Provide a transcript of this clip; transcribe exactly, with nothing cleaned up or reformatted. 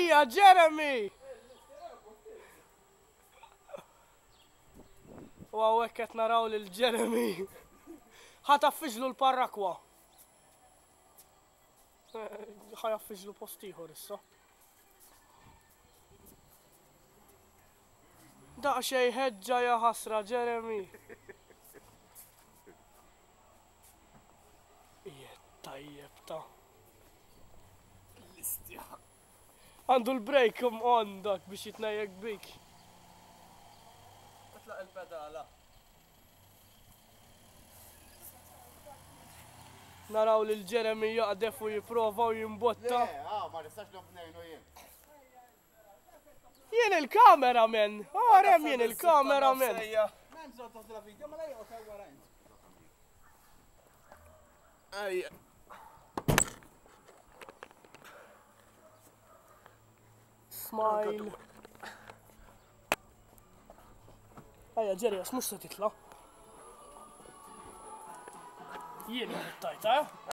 Ejja, Jeremy! U hawnhekk qed naraw lil Jeremy. Ħa taffiġlu l-parrakwa. Ħa jaffiġlu post ieħor issa. Daqsxejn ħeġġa ja ħasra, Jeremy. Ije tajjeb ta'. Għandu l-break on dak biex jitnejjek bik. Itlaq il-pedala. Naraw lil Jeremy jaqdef u jipprova u jimbotta. Le, ah, ma nistax nobnejnu jien. Jien il-cameraman! Għarem jien il-cameraman! Ejja. Smile. Ejja, Jerry, għax mhux se titla'. Jien tajta, eh?